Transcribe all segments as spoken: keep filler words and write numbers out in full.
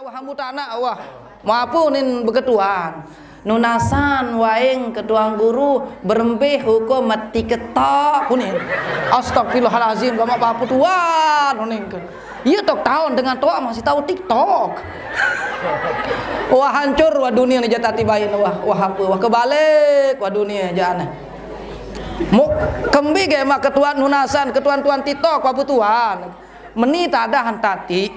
Wah, ambu tanak, wah. Mau apa nin beketuan? Nunasan waing ketuan guru berembih hukum mati ketok kunin. Astagfirullahalazim, gamak bapa tuan kunin ke. Iya tok tahun dengan tok masih tahu TikTok. Wah, hancur wah dunia ni jatati bain wah, wah apa wah kebalik wah dunia jana. Mu kembi ge mak ketuan nunasan ketuan-tuan TikTok wah betuan. Meni tadah tati,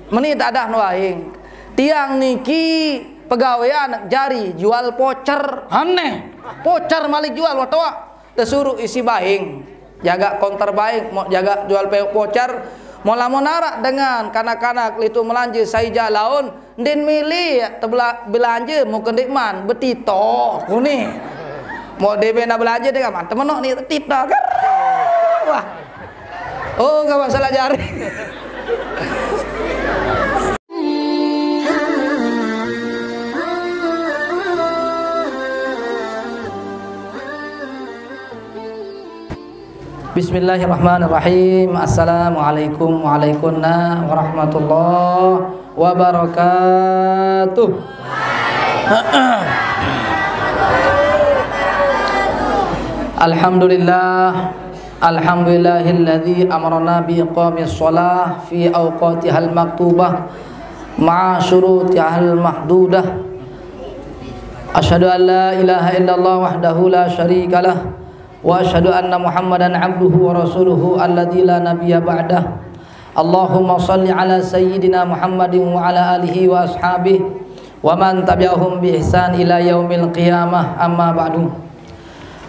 meni tadah nuaing. Tiang niki pegawean jari jual pocer. Aneh. Pocer malik jual watoa. Tesuruh isi baing. Jaga konter baing, mau jaga jual pe-, pocer. Mau lamun arak dengan kanak-kanak litu melanja saija laun, ndin mili tebela-, belanja mau kendikman betito. Kuni. Mau debe na belanja dengan man temenok ni tito. Wah. Oh, nggak masalah jari. Bismillahirrahmanirrahim. Assalamualaikum waalaikumna warahmatullahi wabarakatuh. Alhamdulillah. Alhamdulillahilladzi amarna bi iqamis shalah fi awqatihal maktubah ma'a syurutihal mahdudah. Asyhadu an la ilaha illallah wahdahu la syarikalah, wa asyhadu anna Muhammadan abduhu wa rasuluhu alladzi la nabiyya ba'dah. Allahumma shalli ala sayyidina Muhammadin wa ala alihi wa ashabihi wa man tabi'ahum bi ihsan ila yaumil qiyamah, amma ba'du.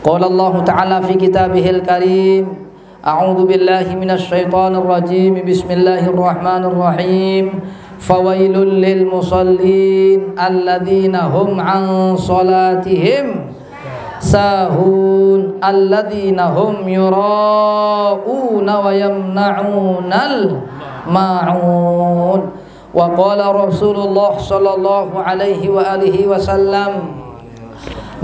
Qala Allahu ta'ala fi kitabihil karim, a'udzu billahi minasy syaithanir rajim. Bismillahirrahmanirrahim. Fawailul lil musallin alladzina hum an salatihim sahun alladzina hum yura'una wa yamna'unal ma'un. Wa qala Rasulullah sallallahu alaihi wa alihi wasallam,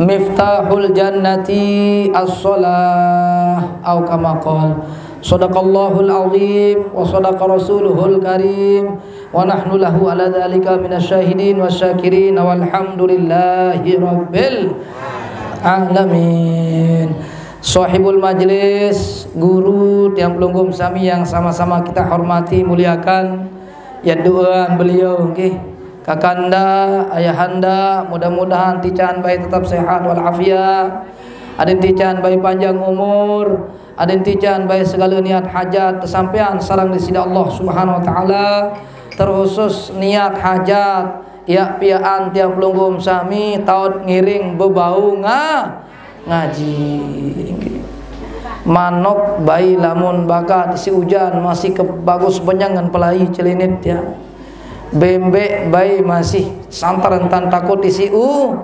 miftahul jannati as-shalah, au kama qal. Sadaqallahul azim wa sadaqa rasuluhul karim, wa nahnu lahu ala dzalika minasy syahidin wasyakirin, walhamdulillahi rabbil alamin. Sahibul majlis, guru tiang pelungguh sami yang sama-sama kita hormati, muliakan, ya doaan beliau nggih. Kakanda, ayahanda, mudah-mudahan tican bae tetap sehat walafiat. Adin tican bae panjang umur, adin tican bae segala niat hajat tesampean sareng di sida Allah Subhanahu wa taala. Terkhusus niat hajat ya piaan tiang pelungguh sami taut ngiring bebau nga ngaji. Manok bayi lamun bakat si ujan masih ke bagus benyangan pelai celinit ya. Bembek bayi masih santaran tan takut isi u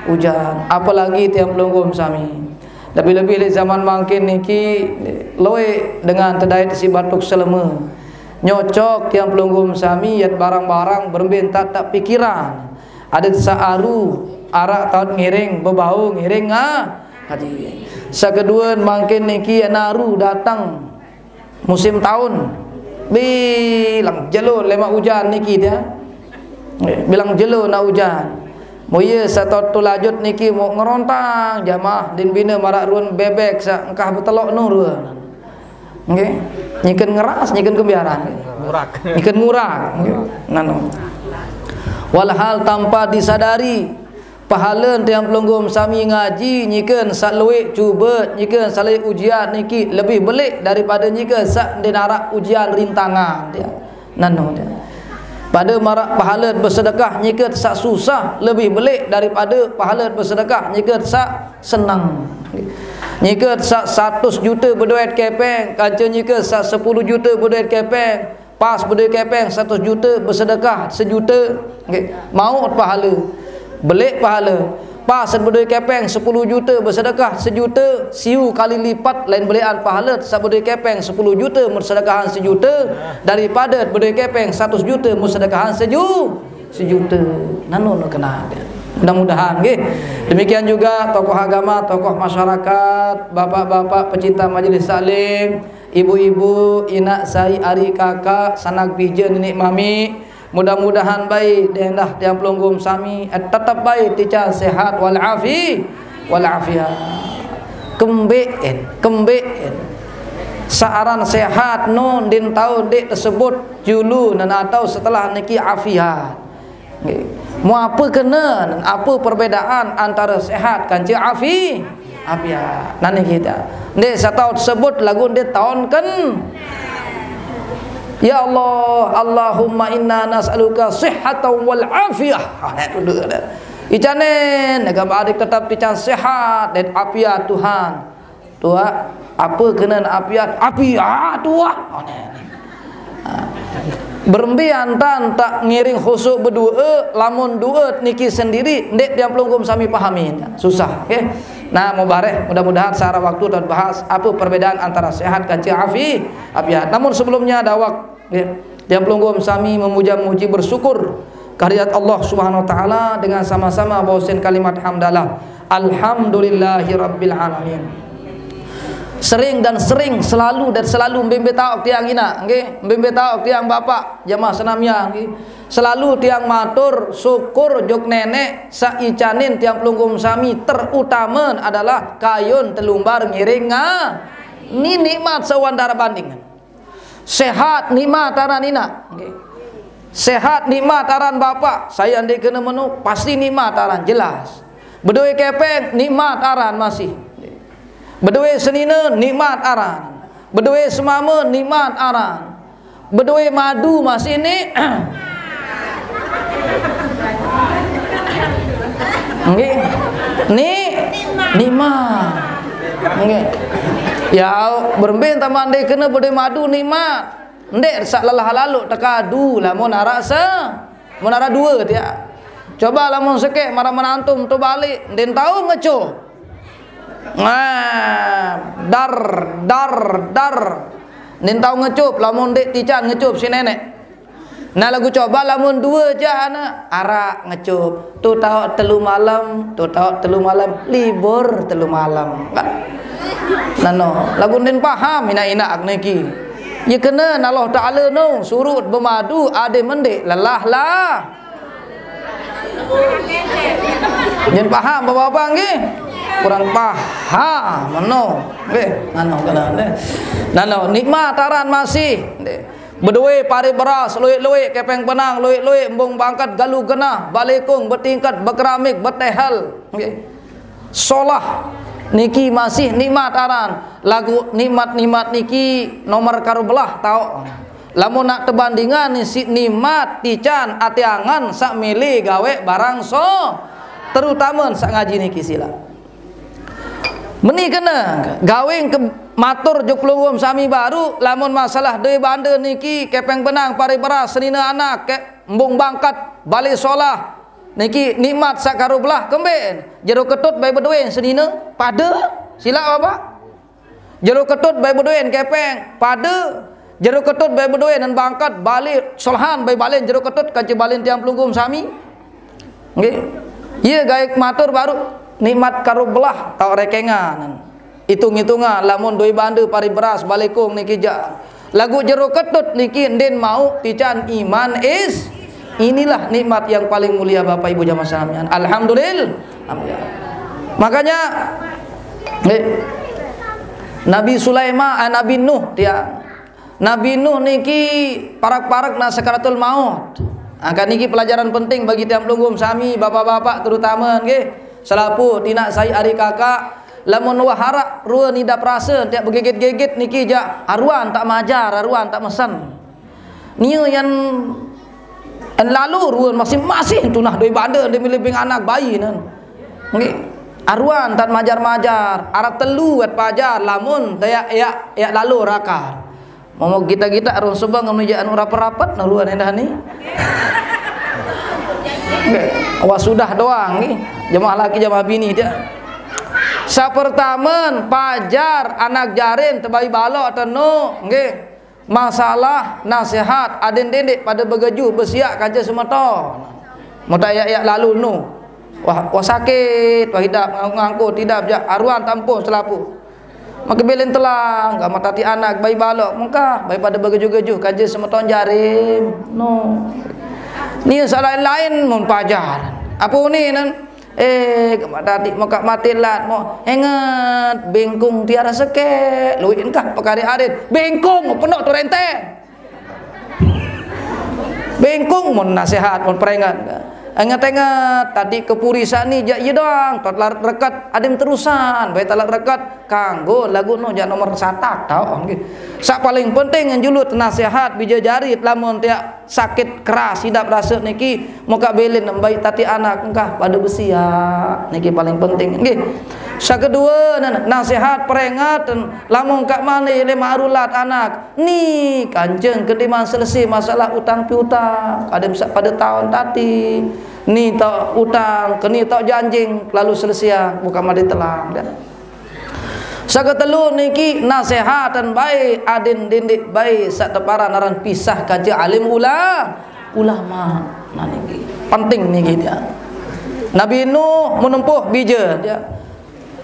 ujan. Apalagi tiang pelungguh sami. Lebih-lebih di zaman mangkin niki loe dengan tedait si batuk seleme. Nyocok tiang pelungguh sami yat barang-barang berembe tak tak pikiran. Ada sa aru arak taut ngiring bebau ngiring nga ngaji. Sakedua mangkin niki naru datang musim taun. Bilang jelo lemak ujan niki dia. Bilang jelo nak ujan. Moye satot tu lajut niki mau ngerontang jamaah din bina marak ruan bebek sa engkah betelok nurun. Nggih. Nyiken ngeras, nyiken kembiaran. Ngurak. Nyiken ngurak. Nggih. Nano. Walhal tanpa disadari, pahala tiang pelungguh sami ngaji nyiken saluik cuba, nyiken saluik ujian niki lebih belik daripada nyiken sak denarak ujian rintangan dia. Nano dia. Pada marak pahala bersedekah nyiket sak susah lebih belik daripada pahala bersedekah nyiket sak senang. Nyiket sak satus juta beduit kepeng, kanca nyiket sak sepuluh juta beduit kepeng, pas beduit kepeng satus juta bersedekah sejuta. Okey, maut pahala. Belik pahala. Pas sat bedoi kepeng sepuluh juta bersedekah sejuta, siu kali lipat lain belian pahala sat bedoi kepeng sepuluh juta bersedekahan sejuta daripada bedoi kepeng seratus juta bersedekahan seju sejuta. Nano nak kena. Mudah-mudahan nggih. Demikian juga tokoh agama, tokoh masyarakat, bapak-bapak pecinta majlis taklim, ibu-ibu, inak sai ari kakak, sanak bija, ninik mami, Mudah-mudahan bae deh dah tiang pelungguh sami, eh, tetep bae tican sehat wal afi, wal afiat. Kembe'en, kembe'en. Sa'aran sehat no ndin tau ndeq tesebut julu nan atau setelah niki afiat. Nggih. Mau apa kena, apa perbedaan antara sehat kance afi-, afiat? Nah, niki ta. Ndeq saq tau tesebut laguq ndeq taonken. Ya Allah, Allahumma inna nas'aluka sihhatan wal afiyah. Ah, nek duduk dah. Icanin, nega badik tetep tican sehat dan afiat Tuhan. Tuaq, apa kena afiat? Afiat, Tuaq. Oh, nek. Ah. Berembe antan tak ngiring khusuk bedue, lamun due niki sendiri, ndeq tiang pelungguh sami pahami. Susah, oke? Nah, mubareh, mudah-mudahan secara waktu dan bahas apa perbedaan antara sehat kance afi-, afiat. Namun sebelumnya ada wak-, Nggih. Tiang pelungguh sami memuja-muji bersyukur kehadirat Allah Subhanahu wa taala dengan sama-sama baosin kalimat hamdalah. Alhamdulillahirabbil alamin. Sering dan sering, selalu dan selalu, mbe-mbe taoq tiang inaq, nggih, mbe-mbe taoq tiang bapaq, jamaah senamian, nggih. Selalu tiang matur syukur jok Neneq saq icanin tiang pelungguh sami, terutama adalah kayun telumbar ngiring nga-, ni nikmat saq wah ndaraq banding. Sehat nikmat aran inaq. Nggih. Sehat nikmat aran bapaq, sai ndeq kene meno, pasti nikmat aran, jelas. Bedoe kepeng nikmat aran masih. Bedoe senine nikmat aran. Bedoe semame nikmat aran. Bedoe madu masih ni. Nggih. Ni, nikmat. Nggih. Ya, berembe taman ndeq kene bedoe madu nikmat. Ndeq saq lelah laloq tekadu lamun araq se-, mun araq due tiaq. Coba lamun sekeq maraq menantum to balik, ndeq tao ngecup. Nah, dar, dar, dar. Ndeq tao ngecup lamun ndeq tican ngecup si Neneq. Nah, laguq coba lamun due jaq ane araq ngecup. Tu taoq telu malem, tu taoq telu malem, libur telu malem. Kan? Nah, no, laguq ndeq paham inaq-inaq niki. Ye kene Allah Taala no suruq bemadu ade mendeq lelah lah. Nyen paham, Bapak-bapak, nggih? Kurang paham, meno. Nggih, anu kena, nggih. Nano, nikmat aran masih, nggih. Bedoe pare beras, lueq-lueq, kepeng benang, lueq-lueq, embung bangket, galuh genah, balekung, betingket, bekeramik, betehel, nggih. Solah niki masih nikmat aran. Laguq nikmat-nikmat niki nomor karo belah taoq. Lamun nak tebandingan siq nikmat tican ate angen saq mele gaweq barang so, terutame saq ngaji niki silaq. Meni kene gawe ke matur jok pelungguh sami baruq, lamun masalah doe bande niki, kepeng benang, pare beras, senine anak, ke-, embung bangket, bale solah, niki nikmat saq karo belah kembeqn? Jero ketut bae bedoen senine, pade? Silaq, Bapak. Jero ketut bae bedoen kepeng, pade. Jero ketut bae bedoen bangket, bale solahan bae balen jero ketut kance balen tiang pelungguh sami. Nggih. Iye gae matur baruq nikmat karo belah taoq rekengan. Itung-itungan, lamun doe bande, pare beras, balekung niki jaq. Laguq jero ketut niki ndeqn mauq tican iman is-, inilah nikmat yang paling mulia, Bapak Ibu jamaah sekalian. Alhamdulillah. Makanya, eh, Nabi Sulaiman, eh, Nabi Nuh, ya. Nabi Nuh niki parak-parak na sakaratul maut. Angkat niki pelajaran penting bagi tiang pelungguh sami, bapak-bapak terutama nggih. Selapuq tinaq sai ari kakak, lamun wah araq rue nidap rase tiap begigit-gigit niki jaq aruan tak majar, aruan tak mesen. Nie yan en lalu rue masih-masih tunah doi bande demi libing anak bayi nan. Nggih. Aruan tak majar-majar, araq telu wet pajar lamun tak yak, yak, yak lalu rakar. Momo gita-gita arung Subang ngemni jaq anu rapet-rapet, nah, ruan endah ni. Nggih. Wah, sudah doang nggih. Jemaah laki, jemaah bini dia. Sapertamen, pajar anak jaren tebai balok atau no, nggih. Masalah nasihat, aden dendeq pade begeju besiaq kance semeton. Mota yak-yak lalu nu. Wah, wah sakit, wah idap ngangkut, idap jaq aruan tampung selapuq. Make bilin telang, gamaq tati anak, bai balok, mengkah, bai pade begeju-geju, kance semeton jarim. No. Ni selain-lain mun pajar. Apa ni nan? Eh, kama tadi maka mati lat mo. Ingat, bengkung tiara seke. Luin kah pekari arit. Bengkung, penuh tu renteng. Bengkung mun nasihat, mun peringat. Ingat-ingat, tadi kepurisan ni jak ye doang. Tot larat reket, adim terusan. Baik talat reket, kanggo lagu no jak nomor satak, tau. Nggih. Sak paling penting njulut nasihat, bija jari, lamun tiak sakit keras idap rasa niki, muka belin baik tati anak engkah pada besia. Niki paling penting. Nggih. Sakedua, nan-, nasihat peringat, lamun kak mani le marulat anak. Ni kancing kediman selesai masalah utang piutang. Ada bisa pada tahun tadi. Ni tak utang, keni tak janjing, lalu selesai, bukan mati telang. Dah. Saketelu niki nasihat dan baik, adin dindik baik, sak teparan aran pisah kaji alim ula-, ulama. Nah, niki penting niki dia. Nabi Nuh menempuh bija dia.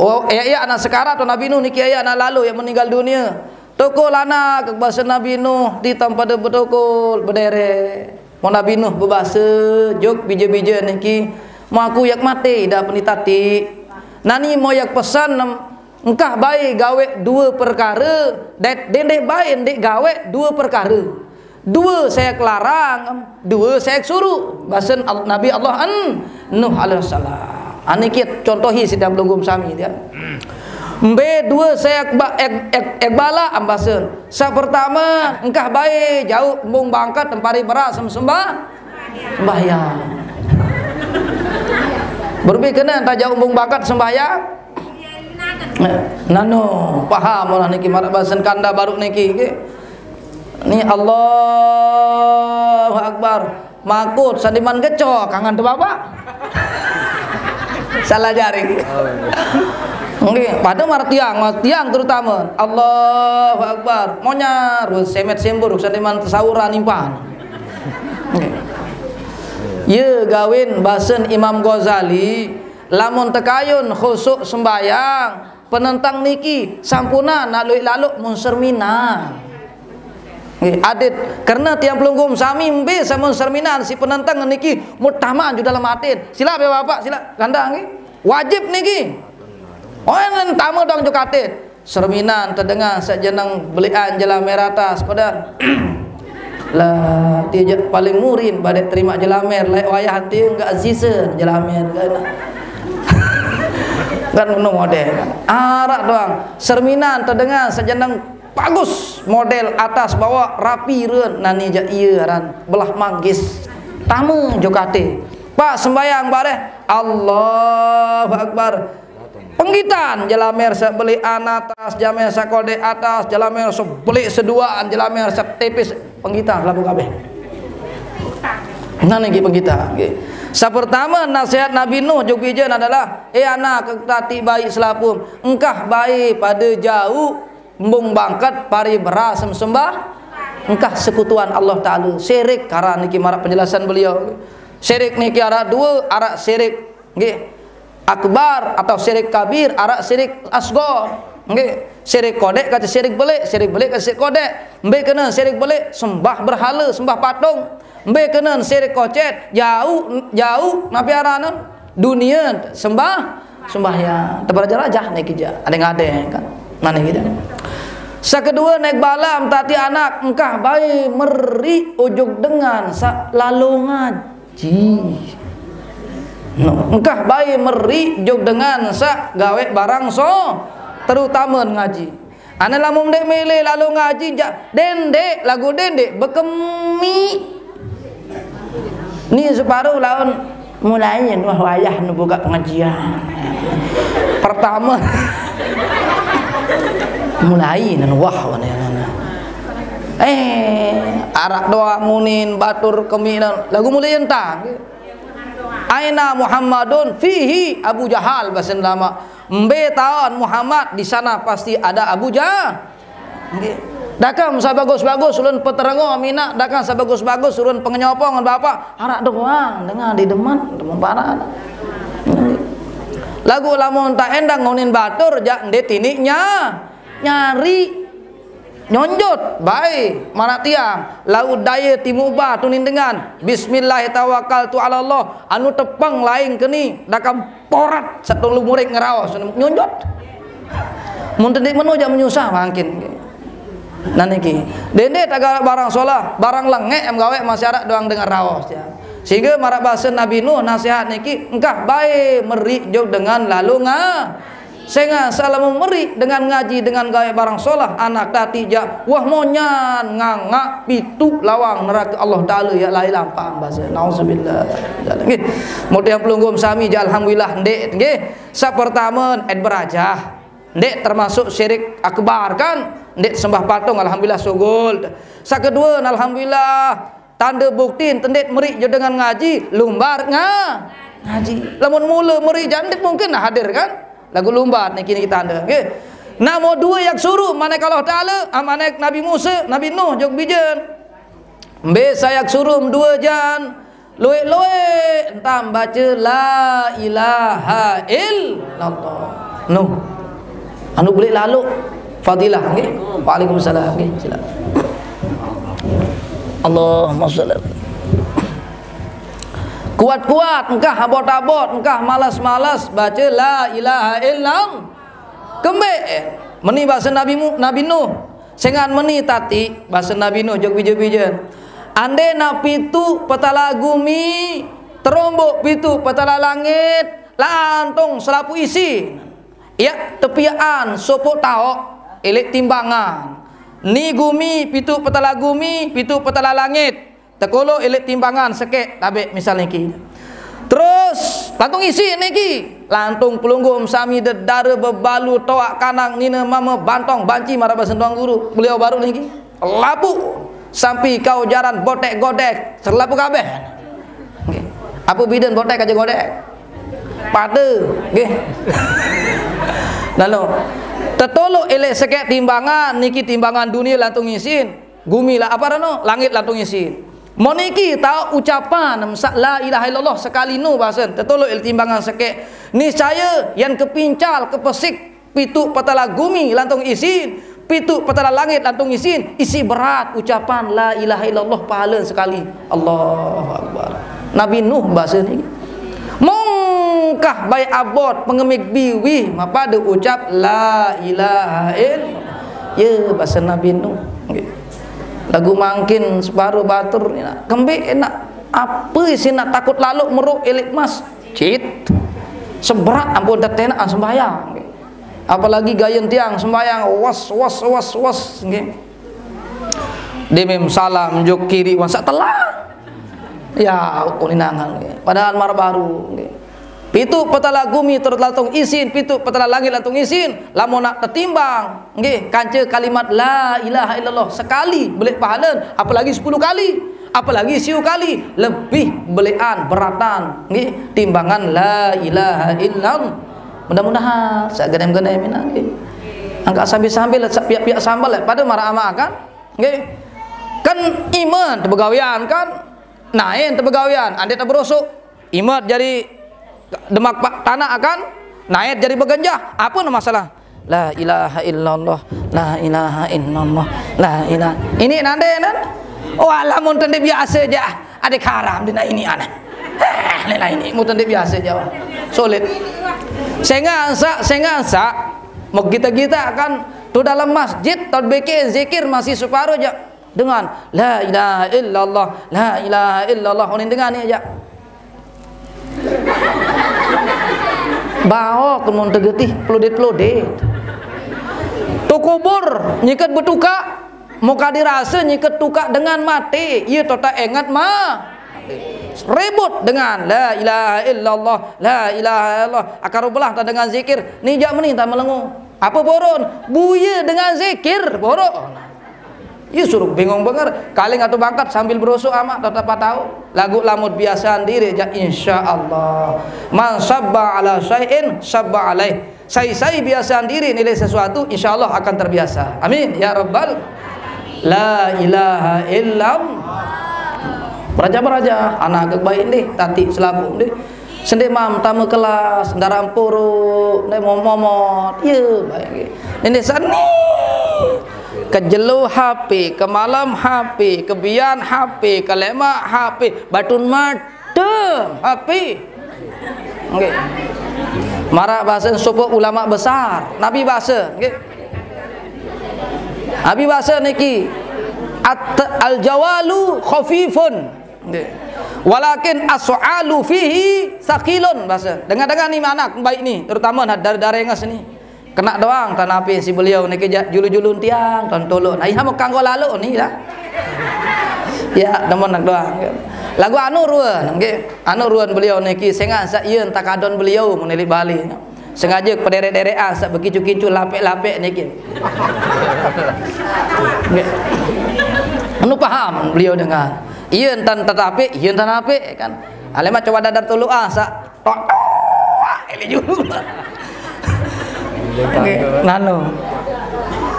Oh, ya, ya, anak sekarat tu Nabi Nuh niki ya, anak lalu yang meninggal dunia. Tokol anak ke bahasa Nabi Nuh di tempat betul berdere. Mau Nabi Nuh berbahasa, jok bija-bija niki, mau aku yak mati dah penitati. Nani mau yak pesan, em, engkah baik gawe dua perkara, det-, dendeh baik ndik gawe dua perkara. Dua saya kelarang, dua saya suruh. Bahasa Al-, Nabi Allah an Nuh alaihissalam. Ani kit contohi sidang belugum sami dia. Mbe dua saya ek, ek, ek, ek bala ambasen. Sa pertama, engkah bae jauh embung bangkat tempari beras sem-, sembah sembahyang. Berbi kena entah jauh embung bangkat sembahyang. Nano, paham orang niki marak basen kanda baru niki, ke? Ni Allahu Akbar. Makut sandiman geco kangen tu bapak. Salah jaring. Nggih, pada martiang, martiang terutama. Allahu Akbar. Monyar semet sembur sandiman tasawuran impan. Nggih. Ye gawin basen Imam Ghazali, lamun tekayun khusuk sembayang, penentang niki sampunan nak luik laluk mun serminan. Nggih, adit. Karena tiang pelungguh sami mbe samun serminan si penentang niki mutaman ju dalam atin. Sila be bapak, sila gandang nggih. Wajib niki. Oh, yang tama dong ju katit. Serminan tedenga sejeneng belian jelamer atas, kodan. Lah, dia je paling murin badek terima jelamer, laik wayah hati enggak sisa jelamer, kan. Kan ngono model, kan. Arak doang. Serminan tedenga sejeneng bagus, model atas bawah rapi ren, nani ja iya ran belah manggis. Tamu jokate. Pak sembayang bareh, Allahu Akbar. Penggitan jelamer sebeli atas, jamer sekodek atas, jelamer sebeli seduaan, jelamer setipis, penggitan labu kabeh. Nah, niki penggitan, nggih. Sapertama nasihat Nabi Nuh jog bijen adalah, "Eh anak, tati baik selapum, engkah baik pada jauh embung bangkat pari berasem sembah, engkah sekutuan Allah Ta'ala." Syirik karan niki marak penjelasan beliau. Syirik niki arak dua, arak syirik, nggih, akbar atau syirik kabir, arak syirik asgor. Nggih, syirik kodek kata syirik belik, syirik belik kata syirik kodek. Mbe kena syirik belik, sembah berhala, sembah patung. Mbe kena syirik kocet, jauh, jauh napi aranan dunia sembah, sembahyang. Tepat aja rajah naik kija. Ada yang ada kan? Mana kita? Sakedua naik balam tati anak engkah bayi meri ujuk dengan sa lalu ngaji. No, engkah bayi meri juk dengan sa gawe barang so, terutama ngaji. Ana lamun dek mele lalu ngaji jak dendek lagu dendek bekemi. Ni separuh laun mulai wah wayah nu buka pengajian. Pertama mulai nan wah wana. Eh, arak doang munin batur keminan lagu mulai entah. Aina Muhammadun fihi Abu Jahal, bahasa lama. Mbe taon Muhammad, di sana pasti ada Abu Jahal. Nggih. Dakam sabagus-bagus ulun peterengo mina, dakam sabagus-bagus ulun pengenyopong bapak, arak doang dengan di deman, demen parah. Lagu lamun tak endang ngonin batur jak nde tiniknya nyari. Nyonjot bae maraq tiang, laguq daye timuq ba tunindengan, "Bismillah tawakkaltu 'alallah," anu tepeng laing keni, dakam porat saq tolu murik ngeraos, nyonjot. Mun tendeq meno jaq menyusah mangkin. Nah niki, dende tagaweq barang solah, barang lengeq em gaweq masih araq doang dengan raos, ya. Sehingge maraq base Nabi Nuh nasihat niki, engkah bae meriq jok dengan lalo nga-, Sengaq saq lamun meriq dengan ngaji, dengan gaweq barang solah, anak tatiq jaq wah monyan ngangaq pituq lawang nerake Allah Taala yaq laeq lampaq base. Nauzubillah. Nggih. Mudah pelungguh sami jaq alhamdulillah ndeq nggih. Saq pertame, et berajah. Ndeq termasuk syirik akbar kan? Ndeq sembah patung, alhamdulillah sugul. Saq kedue, alhamdulillah Tande buktin tendeq meriq jok dengan ngaji, lumbar nga-, ngaji. Lamun mule meriq jaq ndeq mungkin hadir kan? Laguq lumbar niki, niki tande, nggih. Namo due yaq suruh, manik Allah Taala, ah, manik Nabi Musa, Nabi Nuh, jok bijen. Mbe saq yaq suruh due jan, lueq-lueq entan bace la ilaha illallah. Nuh. Anu beleq laloq. Fadilah, nggih. Waalaikumsalam, nggih. Silakan. Allahumma shalli. Kuat-kuat, engkah abot-abot, engkah malas-malas, bace la ilaha illallah. Kembeq? Meni base Nabi Mu-, Nabi Nuh. Sengaq meni tatiq, base Nabi Nuh, jok bije-bijen. Ande naq pituq petala gumi, teromboq pituq petala langit, lantung selapuq isin. Yaq tepiaqan sopoq taoq, eleq timbangan. Ni gumi, pituq petala gumi, pituq petala langit. Tekoloq eleq timbangan sekeq, tabeq misal niki. Terus, lantung isin niki. Lantung pelungguh sami dedare bebalu toaq kanang nine mame bantong banci maraq base Tuan Guru. Beliau baruq niki. Lapuq. Sampi kau jaran boteq godek, selapuq kabeh. Nggih. Ape biden boteq kance godek? Pade, nggih. Lalu, tetoloq eleq sekeq timbangan, niki timbangan dunie lantung isin, gumi la-, apa reno, langit lantung isin. Mon niki taoq ucapan saq la ilaha illallah sekali nu basen, tetoloq eleq timbangan sekeq, niscaye yan kepincal, kepesik, pituq petala gumi lantung isin, pituq petala langit lantung isin, isiq berat ucapan la ilaha illallah pahalen sekali. Allahu Akbar. Nabi Nuh base niki. Mongkah bae abot pengemik biwih mapade ucap la ilaha illallah. Ye, base Nabi Nuh. Nggih. Laguq mangkin separo batur ni nak. Kembeq enak. Ape isiq nak takut laloq meruq eleq mas? Cit. Seberat ampun tetenak sembahyang. Apalagi gayen tiang sembahyang, was, was, was, was, nggih. Demem salam, jok kiri, wan saq telah. Ya, uninangan, nggih. Padahal mar baru, nggih. Pituq petala gumi terus lantung isin, pituq petala langit lantung isin, lamun nak tetimbang, nggih, kance kalimat la ilaha illallah sekali beleq pahalen, apalagi sepulu kali, apalagi siu kali, lebih beleqan beratan, nggih, timbangan la ilaha illallah. Mudah-mudahan saq genem-genem inaq, nggih. Angkaq sambil-sambil saq piaq-piaq sambel, pade maraq amaq kan? Nggih. Kan imet tebegawean kan? Naen tebegawean, ande teberosok. Imet jari demak pa-, tanaq kan? Naet jari begenjah. Ape ne masalah? La ilaha illallah, la ilaha illallah, la ilaha. Ini nande nan? Oh, alah, mun tende biase jaq. Ade karam dina ini aneh. Eh, ne lah ini, mun tende biase jaq. Sulit. Sengaq saq, sengaq saq. Mau kita-kita kan tu dalam masjid, tau bikin zikir masih separo jaq. Dengan la ilaha illallah, la ilaha illallah. Onin dengan ni jaq. Baoq kemun tegetih pelodit-pelodit. Tu kubur nyiket betukaq, muka dirase nyiket tukaq dengan mate, ie tota enget ma. Ribut dengan la ilaha illallah, la ilaha illallah. Akar belah ta dengan zikir, nijaq meni ta melengo. Apa boron? Buye dengan zikir, boron. Ie suruh bingung benger. Kaling atau bangkat sambil berosok amaq tetep tahu. Laguq lamun biasean diriq jaq, insyaallah. Man sabba ala syai'in sabba alaih. Sai-sai biasean diriq nilai sesuatu, insyaallah akan terbiasa. Amin ya rabbal. La ilaha illallah. Beraja-beraja, anak ke baik ndih, tatiq selapuq ndih. Sendeq mam tame kelas, ndaraq empuru, ndeq momot-momot. Ye, baik nggih. Nini seni. Kejelo H P, kemalem H P, kebian H P, kelemak H P, batun madem H P. Nggih. Marak basa sapa ulama besar, Nabi basa, nggih. Nabi basa niki, "At-, al-jawalu khafifun." Nggih. "Walakin as'alu fihi sakilun," basa. Dengar-dengar ni anak baik ni, terutama nah, dari darenges ni. Kena doang tan ape si beliau niki jak julu-julun tiang, tan tolok. Nah, iya mau kanggo lalu ni lah. Ya, temen nak doang. Lagu anu ruan, nggih. Anu ruan beliau niki sengah sak iya entak kadon beliau menilik balik. Sengaja pederek-derekan sak bekicu-kicu lapek-lapek niki. Nggih. Anu paham beliau dengan. Iya entan tetapi, iya entan apik kan. Alema coba dadar tolok ah sak tok tok, ele julu. Nggih, nano.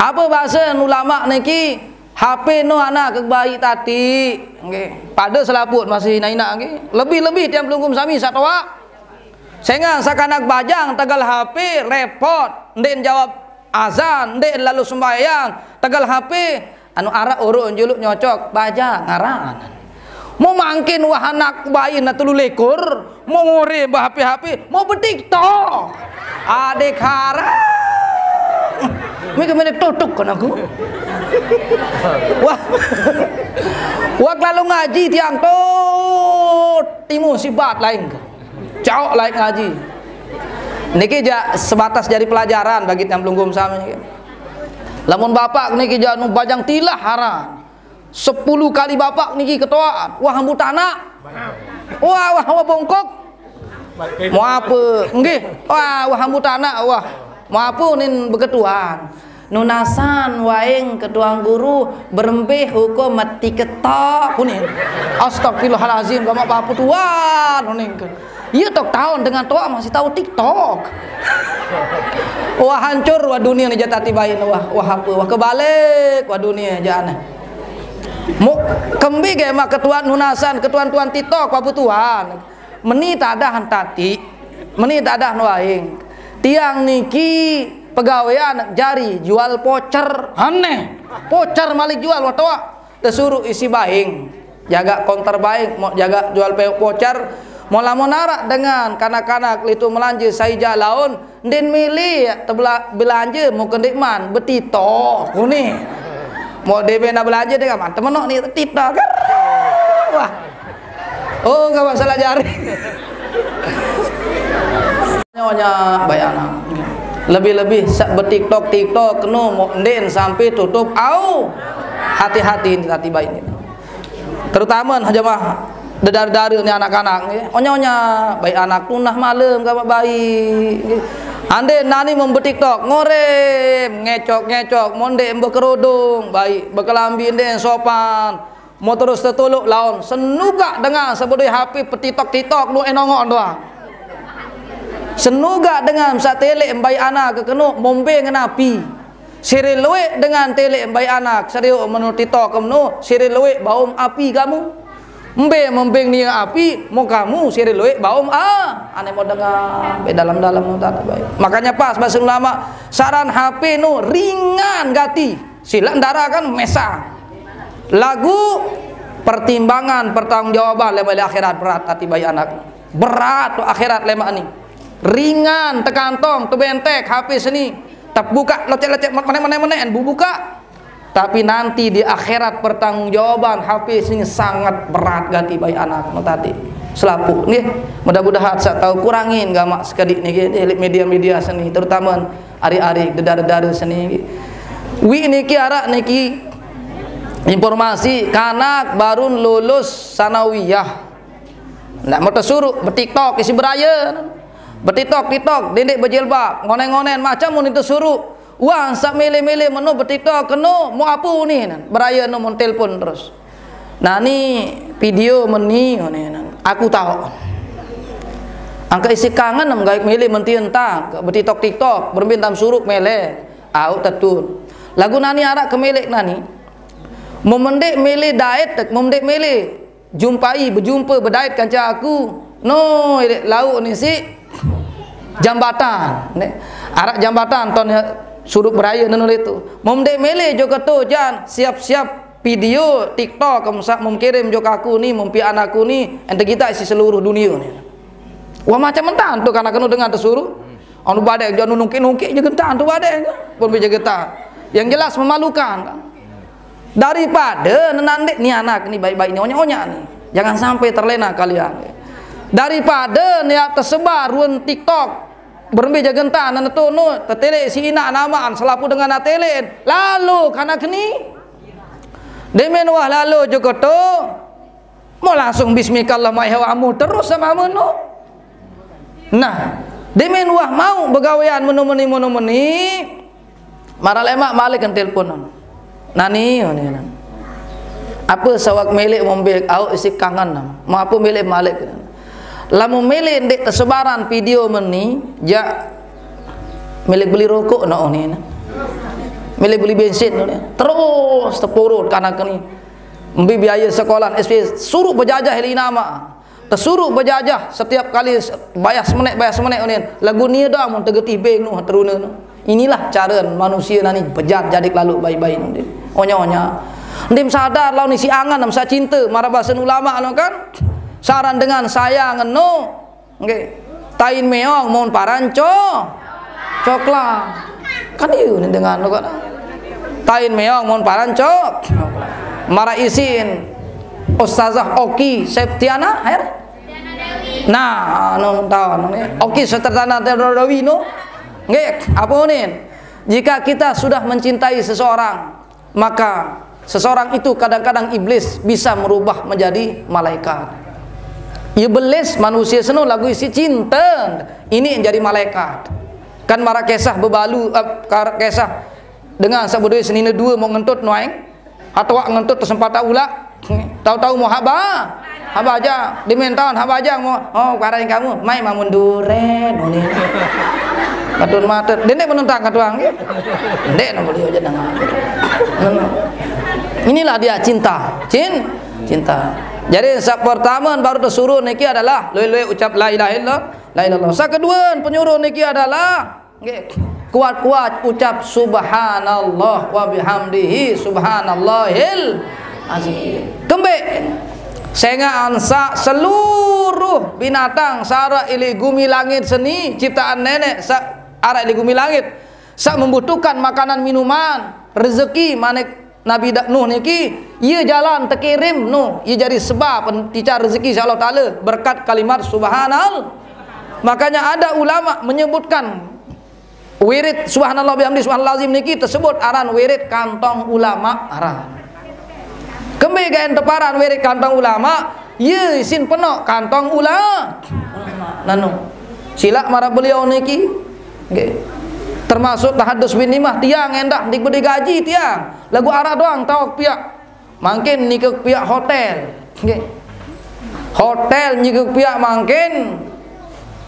Apa bahasa ulama niki? H P no anak ke bayi tati. Nggih. Pada selaput masih inak-inak nggih. Lebih-lebih tiang pelungkum sami satoa. Sengah sakanak bajang tegal H P repot, ndeq jawab azan, ndeq lalu sembahyang, tegal H P anu arak uruk juluk nyocok bajang ngaran. Mau mangkin wah anak bayi na telu likur, mau ngore bah H P-H P, mau betiktok. Adik haram. Mika mene tutuk kan aku. Wah. Wah lalu ngaji tiang tot timu sibat lain. Caok lain ngaji. Niki jak sebatas jadi pelajaran bagi tiang pelungguh sami. Lamun bapak niki jak nu bajang tilah haran. Sepuluh kali bapak niki ketoaan. Wah, ambu tanak. Wah, wah, wah, bongkok. Mau apa? Nggih. Wah, wah, ambu tanak. Wah, mau apa nin beketuan? Nunasan waing ketuan guru berembe hukum mati ketok kuning. Astagfirullahalazim, gamak bapu tuan kuning. Iya tok tahun dengan toa masih tahu TikTok. Wah hancur wah dunia ni jatati bain wah wah apa wah kebalik wah dunia jana. Mu kembi ge mak ketuan nunasan ketuan-tuan TikTok wah tuan. Meni tadah tati, meni tadah nuaing. Tiang niki pegawean jari jual pocer. Aneh. Pocer malik jual wah toa. Tesuruh isi baing, jaga konter baing, mau jaga jual pe-, pocer, mau lamun arak dengan kanak-kanak litu melanje sai jalaun, ndin milih tebela-, belanje mau kendik man, betito, kuni. Mau debe na belanje dengan man, temenok ni tito, kan? Wah. Oh, gak masalah jari. Nyonya bayana. Lebih-lebih sak betiktok-tiktok kenu mau ndin sampai tutup au. Hati-hati, hati baik ni. Terutama jemaah dedara-dara ni anak-anak nggih. Onya-onya baik anak tunah malam gawa baik nggih. Ande nani membetiktok ngorem, ngecok-ngecok, monde bekerudung, baik bekelambi nde sopan. Mau terus tetuluk laun senugak dengan sebedui H P petitok-titok nu enongok doang. Senugak dengan satelek mbai ana kekenu mombe ngenapi. Siri luek dengan telek mbai anak seriuk menu TikTok kemenu siri luek baum api kamu. Mbe membing nia api, mau kamu siri luek baum ah. Ane mau dengar be dalam-dalam nu tadi baik. Makanya pas bahasa ulama saran H P nu ringan gati. Sila ndara kan mesang. Lagu pertimbangan pertanggungjawaban lemak akhirat berat ati bayi anak. Berat tu akhirat lemak ni. Ringan tekantong tu bentek H P seni. Tebuka lecek-lecek menek-menek menek bubuka. Tapi nanti di akhirat pertanggungjawaban H P seni sangat berat ganti bayi anak tadi. Selapuq nggih. Mudah-mudahan saya tahu kurangin gamak sekedik niki nggih media-media seni terutama ari-ari dedara-dara seni nggih. Wi niki arak niki informasi kanak barun lulus sanawiyah. Ndak mau tesuruq betiktok isi beraya. Betiktok-tiktok, dendeq bejilbab, ngonen-ngonen macam mun tesuruq. Wah, sak mele-mele menu betiktok kenu mau apu ni. Beraya nu mun telpon terus. Nani video meni ngene nan. Aku tahu. Angka isi kangen nem gaik mele menti entang, betitok-titok, berembin tam suruk mele. Au tetun. Lagu nani arak ke melek nani. Memendik mele daet, memendik mele jumpai, berjumpa, bedait kanca aku. No, ilek lauk ni si jambatan. Ne. Arak jambatan ton Surup beraya nenu leto. Mom dek mele jo keto jan, siap-siap video TikTok, kemsak mom kirim jo kaku ni, mom pian aku ni, ente kita isi seluruh dunia ni. Wah, macam mentan tu kanak kenu dengan tesuruh. Anu badek jo anu nungkik-nungkik je gentan tu badek. Pun bija gentan. Yang jelas memalukan kan. Daripada nenandek ni anak ni baik-baik ni, onyak-onyak ni. Jangan sampai terlena kalian. Daripada ni tersebar ruen TikTok, berembe jagentan nan tu nu, tetelek si inak namaan selapu dengan atelek. Lalu kanak ni. Demen wah lalu jo keto. Mau langsung bismillah mai hawa amu terus sama amu nu. Nah, demen wah mau begawean menu meni menu meni. Mara lemak malik kan telepon. Nani, oh, ni, nan. Apa sawak melek mombek au isi kangen nam. Mau apa melek malik. Lamun melek ndek kesebaran video meni, jak melek beli rokok no, oh, ni, nan. Melek beli bensin no, ni. Terus tepurut kanak ni. Mbi biaya sekolah S P suruh berjajah li nama. Tesuruh berjajah setiap kali se-, bayar semenek, bayar semenek unin. Lagu ni dah mun tegetih beng nu teruna nu. Inilah cara manusia nani bejat jadi lalu baik-baik nu. Onya-onya. Ndim sadar lawan isi angan nam sa cinta mara basen ulama nu kan. Saran dengan sayang nu. Nggih. Tain meong mun paran co-, coklat. Kan ieu ni dengan nu kan. Tain meong mun paran co-, coklat. Mara isin Ustazah Oki Septiana, her? Nah, anu tahu anu ni. Oki Septiana Dewi nu. Nggih, apa unin? Jika kita sudah mencintai seseorang, maka seseorang itu kadang-kadang iblis bisa merubah menjadi malaikat. Iblis manusia seno lagu isi cinta, ini yang jadi malaikat. Kan mara kesah bebalu, eh, kar-, kesah dengan sabedoi senine dua mau ngentut nuaing. Atau wak ngentut tersempata ulak. Tahu-tahu mau haba. Haba aja. Dimentan haba aja mau. Oh, karain kamu. Mai mamun duren. Oh, ni. Katun mata. Dendek menentang katuang. Dek nak beli aja dengan. Inilah dia cinta. Cin-, cinta. Jadi, sa pertama baru tesuruh niki adalah lui-lui ucap la ilaha illallah, la ilaha illallah. Sa kedua penyuruh niki adalah nggih, kuat-kuat ucap subhanallah wa bihamdihi subhanallahil azim. Kembe sehingga ansa seluruh binatang sara ili gumi langit seni ciptaan nenek sa-, ara ili gumi langit sa membutuhkan makanan minuman, rezeki manik Nabi Da-, Nuh niki, ia jalan tekirim Nuh, ia jadi sebab pen-, ticar rezeki si Allah Taala berkat kalimat subhanal. Makanya ada ulama menyebutkan wirid subhanallah bihamdi subhanallah azim niki tersebut aran wirid kantong ulama aran. Kembe gaen teparan wirid kantong ulama, ia isin penok kantong ula-, ulama. Nanu. Silak mara beliau niki. Nggih. Termasuk tahadus bin nimah tiang endah diberi gaji tiang. Lagu arah doang tawak piak. Mangkin nike piak hotel. Nggih. Hotel nike piak mangkin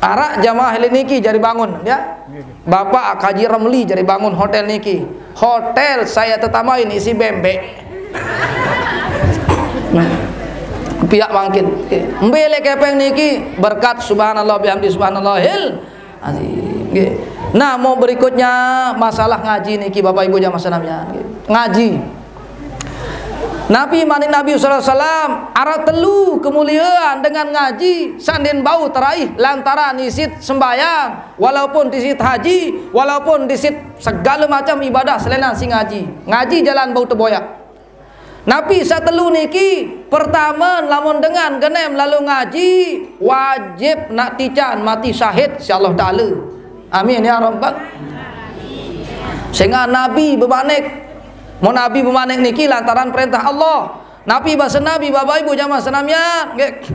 arak jamaah ile niki jari bangun, ya. Bapak Haji Ramli jari bangun hotel niki. Hotel saya tetambahin isi bembek. Nah, piak mangkin. Mbe ile kepeng niki berkat subhanallah bihamdi subhanallahil azim. Nggih. Nah, mau berikutnya masalah ngaji niki Bapak Ibu jamaah senamian. Nggih. Ngaji. Nabi manik Nabi sallallahu alaihi wasallam, ara telu kemuliaan dengan ngaji, sandin bau teraih lantaran isit sembayang, walaupun disit haji, walaupun disit segala macam ibadah selain si ngaji. Ngaji jalan bau teboyak. Nabi satelu niki, pertama lamun dengan genem lalu ngaji, wajib nak tican mati syahid si Allah Taala. Amin ya rabbal. Sehingga Nabi bemanik, mau Nabi bemanik niki lantaran perintah Allah. Nabi bahasa Nabi, Bapak Ibu jamaah senamian, nggih.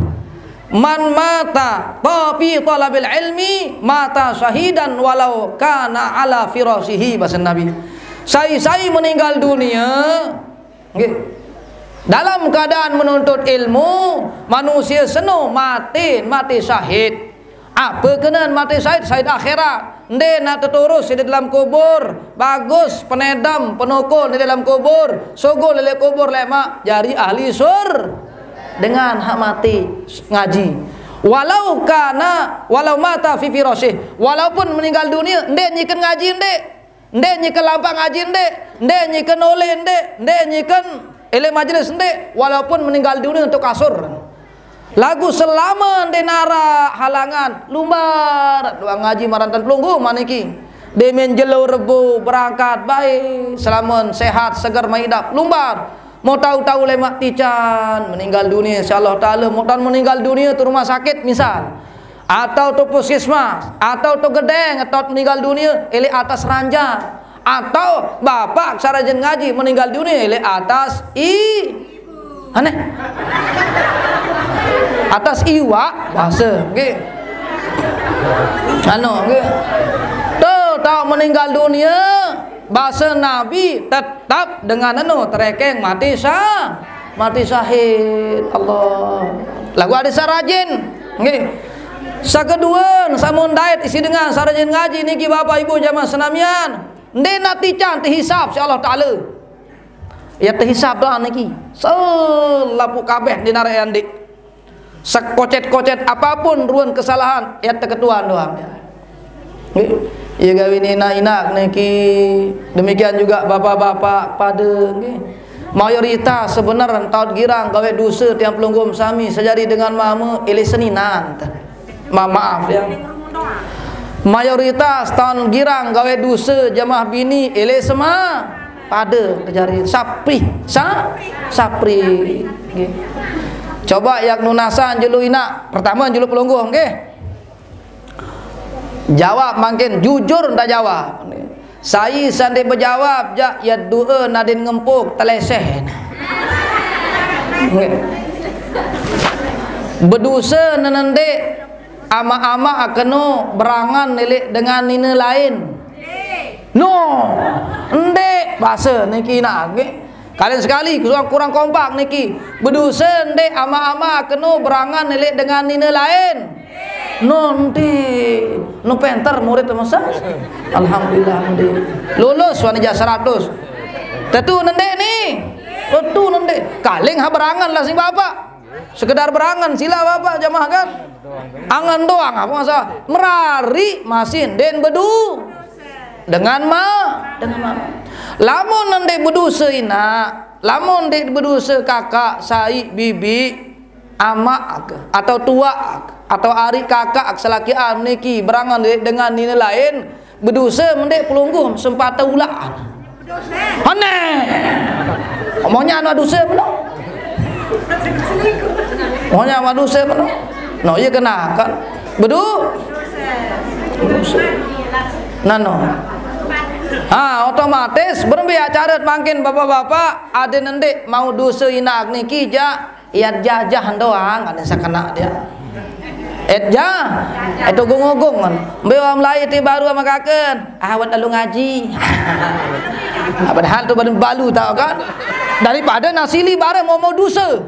Man mata ta fi talabil ilmi mata syahidan walau kana ala firashihi, bahasa Nabi. Sai-sai meninggal dunia, nggih, dalam keadaan menuntut ilmu, manusia seno mati, mati syahid. Apa kena mati syahid? Syahid akhirat. Nde nak teturus di dalam kubur. Bagus, penedam, penukul di dalam kubur. Sugul di dalam kubur lemak jari ahli sur. Dengan hak mati ngaji. Walau kana, walau mata fi firashih. Walaupun meninggal dunia, nde nyiken ngaji nde. Ndeq nyeken lampaq ngaji ndeq, ndeq nyeken oleh ndeq, ndeq nyeken elek majelis ndeq, walaupun meninggal dunia untuk kasur. Laguq selame ndeq naraq halangan, lumbar doang ngaji marantan pelungguh maniki. Demen jelo Rebo berangkat bae, selamen sehat, seger maidap, lumbar. Mau tau-tau lemaq tican meninggal dunia, insyaallah taala, mau tau meninggal dunia tu rumah sakit misal. Atau tu puskesmas, atau tu gedeng, atau meninggal dunia, elek atas ranjang. Atau bapak sarajin ngaji meninggal dunia, elek atas i-, aneh. Atas iwak, bahasa, nggih. Anu, nggih. Tu, tau meninggal dunia, bahasa Nabi tetap dengan anu, terekeng mati sa-, mati syahid. Allah. Laguq adeq sarajin, nggih. Sakedue, samun dait isiq dengan sarajin ngaji niki, Bapak Ibu jamaah senamian, ndeq natican tehisab siq Allah Taala. Ye tehisab doang niki. Selapuq kabeh ndeq naraq ye ndeq. Sekocet-kocet apapun ruen kesalahan, ye teketuan doang. Nggih. Ye gawene inaq-inaq niki, demikian juga bapak-bapak pade, nggih. Mayoritas sebener taun girang gawe duse tiang pelungguh sami sejari dengan mame elek seninan. Ma-, maaf ya. Mayoritas taun girang gawe duse jamaah bini elek sema pade tejari sapri, sa-, sapri. Nggih. Coba yak nunasan julu inaq, pertama julu pelungguh, nggih. Jawab mangkin jujur ndak jawab. Sai saq ndeq bejawab, jaq ye due nadin ngempuk teleseh. Nggih. Beduse nenendeq amaq-amaq keno berangan elek dengan nine laen. No, ndeq base niki nage. Kalian sekali kurang, kurang kompak niki. Beduse ndeq amaq-amaq keno berangan elek dengan nine laen. No ndeq, no penter murid masa. Alhamdulillah ndeq. Lulus wani jaq seratus. Tetu nendeq ni. Tetu nendeq. Kaling ha berangan lah sing bapak. Sekedar berangen, silaq bapak jamaah kan. Angen doang, apa masalah? Merariq masih ndeq bedu dengan ma-, dengan ma-. Lamun ndeq beduse inaq, lamun ndeq beduse kakaq, saiq, bibiq, amaq atau tuaq atau ariq kakaq selakian niki berangen ndeq dengan nine laen, beduse mendeq pelungguh sempate ulaq. Aneh. Omongnya anu duse meno. Omongnya anu duse meno. No, iya kena kan. Bedu. Nano. Ha, otomatis berembe acara mangkin bapak-bapak, adeq nendeq mau duse inaq niki jaq Iat jajah doang, ada sekena dia. Et ja, et ogung-ogung kan. Mbe wah melai ti baru ama kaken, awet lalu ngaji. Ah, padahal tu baru balu tau kan. Daripada nasili bareng mau, mau dosa.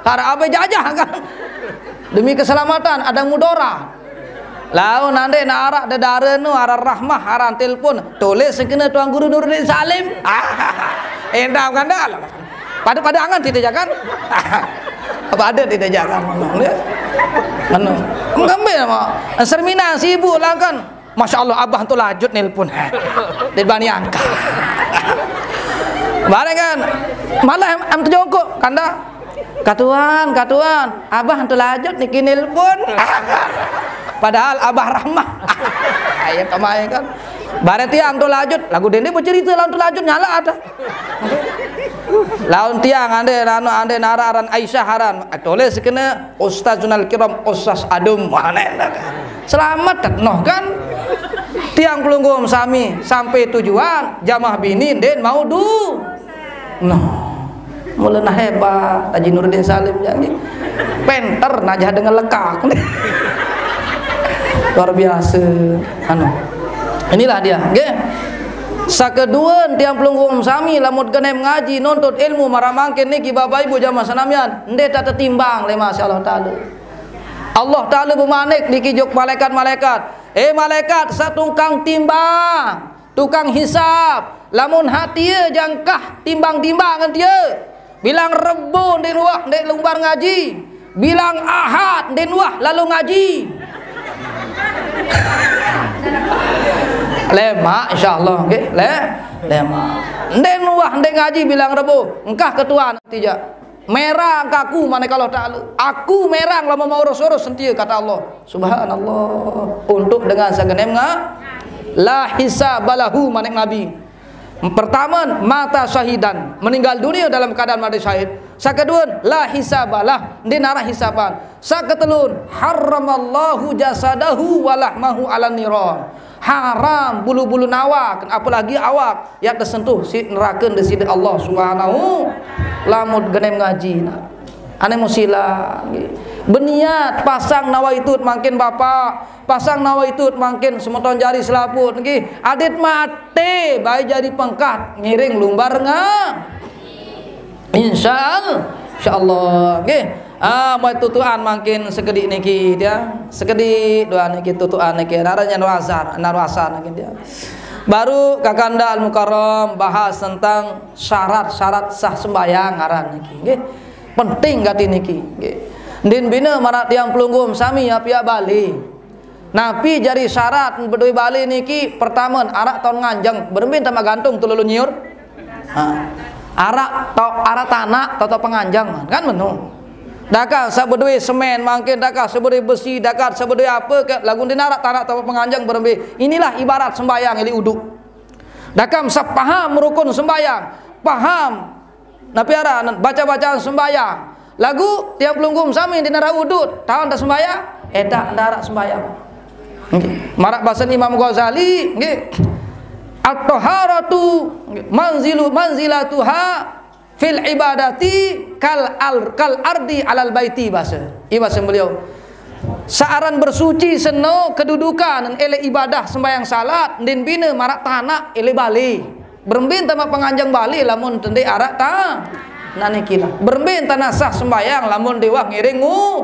Harap abe jajah kan. Demi keselamatan, ada mudarat. Laun nande nak arak dedare nu aran Rahmah, aran telepon, tulis kena Tuan Guru Nuruddin Salim. Endam kan dah. Pada-pada angan tidak jangan. Apa ada tidak jangan ngomong dia. Anu. Ngambil sama. Sermina sibuk lah kan. Masya Allah, abah tu lajut nelpon. Dia bani angkat. Bareng kan. Malah am, am terjongkok kanda. Katuan, katuan, abah tu lajut niki nelpon. Padahal abah Rahmah. Ayo kemai kan. Bareng tiang tu lajut, lagu dende bercerita lawan tu lajut nyala ada. Lawan tiang ande anu ande nara aran Aisyah aran. Tulis kena Ustazunal Kiram Ustaz Adum. Mana enak. Selamat noh kan. Tiang pelungguh sami sampai tujuan, jamaah bini ndeq mau du. Noh. Mula nah hebat Haji Nuruddin Salim janji. Penter najah dengan lekak. Luar biasa. Anu. Inilah dia, nggih. Sakeduen tiang pelungguh sami lamun genem ngaji nuntut ilmu maraq mangkin niki Bapak Ibu jamaah senamian, ndeq tak tetimbang leq Masya Allah Taala. Allah Taala bemanik niki juk malaikat-malaikat, "Eh malaikat, saq tukang timbang, tukang hisab, lamun hak tie jangkah timbang-timbang ngan tie, bilang Rebo ndeq nuah ndeq lumbar ngaji, bilang Ahad ndeq nuah lalo ngaji." Lemak, insyaallah, nggih. Le, lemak. Ndén wah, ndén ngaji bilang Rebo, engkah ketua nanti ja. Merang ke aku, manik Allah Taala. Aku merang lamun mau urus-urus sentia, kata Allah. Subhanallah. Untuk dengan sagenémna, la hisabalahu, manik Nabi. Pertama, mata syahidan, meninggal dunia dalam keadaan mati syahid. Sakedua, la hisabalah, ndén arah hisaban. Saketelun, harramallahu jasadahu wa lahmahu alan niron. Haram bulu-bulu awak, apalagi awak yang tersentuh si neraka di sisi Allah Subhanahu. Lamun genémna ngaji, nah. Ané musila, nggih. Berniat, pasang nawaitu mangkin Bapak, pasang nawaitu mangkin semeton jari selaput, nggih. Adit maté baé jari pengkat ngiring lumbar nga. Insyaallah, insyaallah, nggih. Ah, mau tutuan mangkin sekedik niki dia. Sekedik doa niki tutuan niki. Nara nyan wasar, nara wasar niki dia. Baru Kakanda Al Mukarram bahas tentang syarat-syarat sah sembahyang ngaran niki, nggih. Penting gati niki, nggih. Ndin bina marak tiang pelungguh sami apiak balé. Napi jari syarat bedoé balé niki? Pertama, arak taun nganjeng, berembe tama gantung tululun nyiur. Ha. Arak tau, arak tanak tau, tau penganjeng, kan menu. Dakah sabedoé semén mangkin, dakah sabedoé besi, dakah sabedoé apa ke, lagu ndin arak tanak tau penganjeng berembe. Inilah ibarat sembahyang ili uduk. Dakam sapaham rukun sembahyang, paham napi aran baca-bacaan sembahyang. Lagu tiang pelungguh sami di nara udut, taun tak sembahyang, édak ndak arak sembahyang. Nggih. Marak basen Imam Ghazali, nggih. At-taharatu manzilu manzilatuha fil ibadati kal al, kal ardi alal baiti, basa. Iya basa beliau. Saaran bersuci seno kedudukan ele ibadah sembahyang salat, ndin bina marak tanak ele balé. Berembe tama penganjeng balé lamun tende arak ta. Nah niki lah. Berembe tana sah sembahyang lamun déwah ngiring u.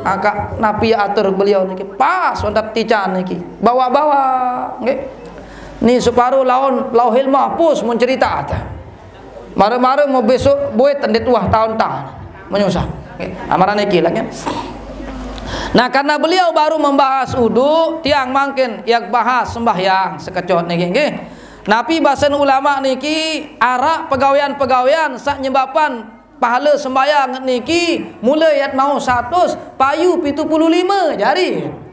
Angka napi atur beliau niki. Pas wonten tican niki. Bawa-bawa, nggih. Ni separuh laun Lauhil Mahfuz mun cerita ata. Mara-mara mau besok buat tendit wah taun-taun. Menyusah. Oke. Amaran niki lah, kan? Nah, karena beliau baru membahas udu, tiang mangkin yak bahas sembahyang sekecot niki, nggih. Napi basen ulama niki, arak pegawean-pegawean sak nyebaban pahala sembahyang niki, mulai yat mau satus, payu pitu puluh lima jari.